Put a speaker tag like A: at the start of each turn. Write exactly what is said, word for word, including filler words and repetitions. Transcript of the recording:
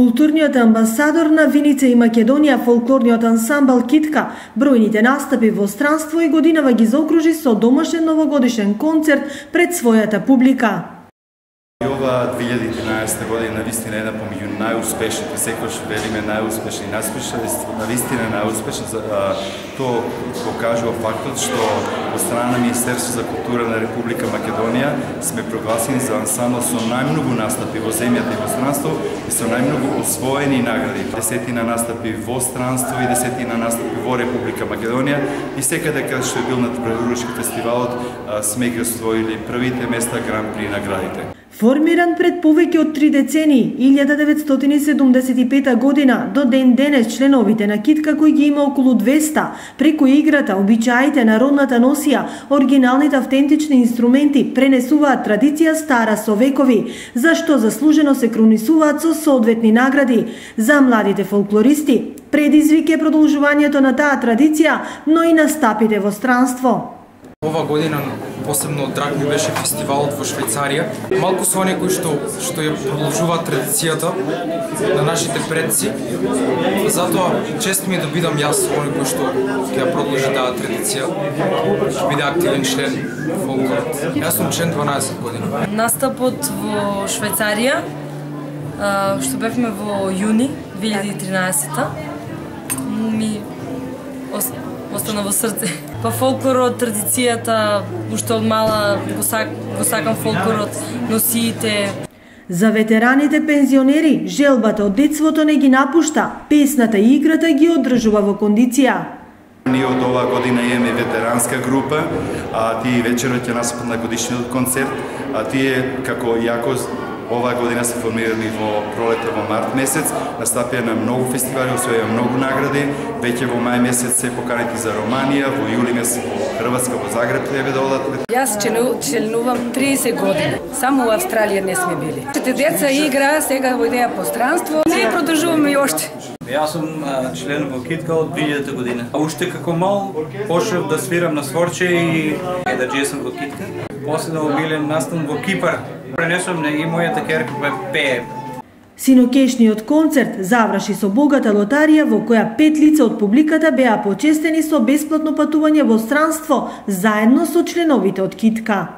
A: Културниот амбасадор на Виница и Македонија, фолклорниот ансамбл Китка, бројните настапи во странство и годинава ги заокружи со домашен новогодишен концерт пред својата публика.
B: Ова две илјади и тринаесетта година навистина е една помеѓу најуспешните, секогаш велиме најуспешни, навистина најуспешна. Тоа покажува фактот што од страна на Министерство за култура на Република Македонија сме прогласени за ансамбл со најмногу настапи во земјата и во странство и со најмногу освоени награди. Десетина настапи во странство и десетина настапи во Република Македонија и секаде каде што е бил на Преурушки фестивалот сме ги освоили првите места гран-при наградите.
A: Формиран пред повеќе од три децении, илјада деветстотини седумдесет и пета година, до ден денес членовите на Китка, кои ги има околу двеста, преку играта, обичаите, народната носија, оригиналните автентични инструменти, пренесуваат традиција стара со векови, за што заслужено се кронисуваат со соодветни награди. За младите фолклористи, предизвик е продолжувањето на таа традиција, но и настапите во странство.
C: Ова година посебно драг ми беше фестивалот во Швајцарија. Малку со оние кои што што ја продолжуваат традицијата на нашите предци. Затоа чест ми е да бидам јас оние кои што ќе ја продолжи таа традиција. Ќе биде активен член фолклорот. Јас сум член дванаесет години.
D: Настапот во Швајцарија, што бевме во јуни две илјади и тринаесетта, ми остана во срце. Па фолклорот, традицијата, уште од мала го, сак, го сакам фолклорот, носиите.
A: За ветераните пензионери, желбата од детството не ги напушта, песната и играта ги одржува во кондиција.
B: Ние од оваа година имаме ветеранска група, а тие вечерот ќе настапат на годишниот концерт, а тие како јако оваа година се формирани во пролета, во март месец, настапија на многу фестивали, освоја многу награди, веќе во мај месец се поканети за Романија, во јули месец во Хрватска, во Загреб треба да одат.
E: Јас членувам тридесет години, само во Австралија не сме били. Чете деца игра, сега во идеја по странство, ние продолжуваме и оште.
F: Јас сум член во Китка од две илјадата година. А уште како мал почнав да свирам на сворче и да джесам во Китка. После на обилен настан во Кипар. Пренесувам и мојата ќерка пее.
A: Синокешниот концерт заврши со богата лотарија во која пет лица од публиката беа почестени со бесплатно патување во странство заедно со членовите од Китка.